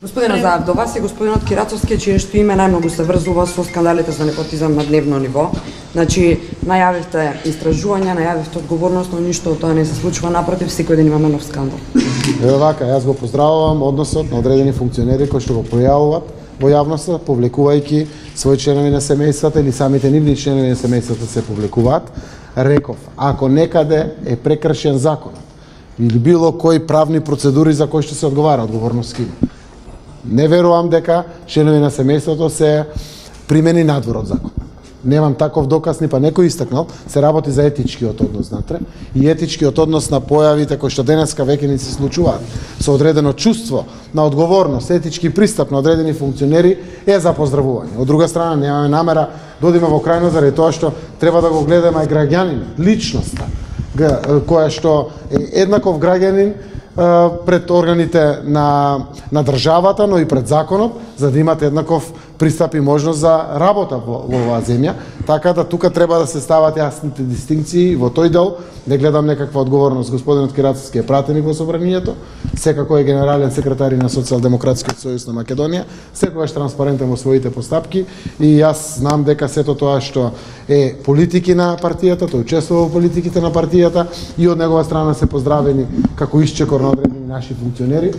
Господин Азаров, до вас и господинот Кирацовски, чието име најмногу се врзува со скандалите за непотизам на дневно ниво. Значи, најавивте истражување, најавивте одговорност, но ништо од тоа не се случува, напротив, секој ден имаме нов скандал. Ево вака, јас го поздравувам односот на одредени функционери кои што го пројавуваат во јавноста, повлекувајќи своји членови на семејствата или самите нивни членови на семејствата се повлекуваат. Реков, ако некаде е прекршен законот или било кои правни процедури за кои што се одговара, одговорност има. Не верувам дека членови на семејството се примени надвор од закон. Немам таков доказ, ни па некој истакнал, се работи за етичкиот однос натре и етичкиот однос на појавите кои што денеска веќе ни се случуваат со одредено чувство на одговорност, етички пристап на одредени функционери е за поздравување. Од друга страна, немаме намера да одиме во крајно заради тоа што треба да го гледаме и граѓанинот, личноста, која што е еднаков граѓанин пред органите на државата, но и пред законот, за да имате еднаков пристап и можност за работа во оваа земја. Така да тука треба да се стават јасните дистинкции во тој дел, да гледам некаква одговорност. Господинот Кирацовски е пратеник во собранието, секако е генерален секретар на Социјалдемократскиот сојуз на Македонија, секогаш транспарентен во своите постапки и јас знам дека сето тоа што е политики на партијата, тој учествува во политиките на партијата и од негова страна се поздравени како исчекор на одредени наши функционери.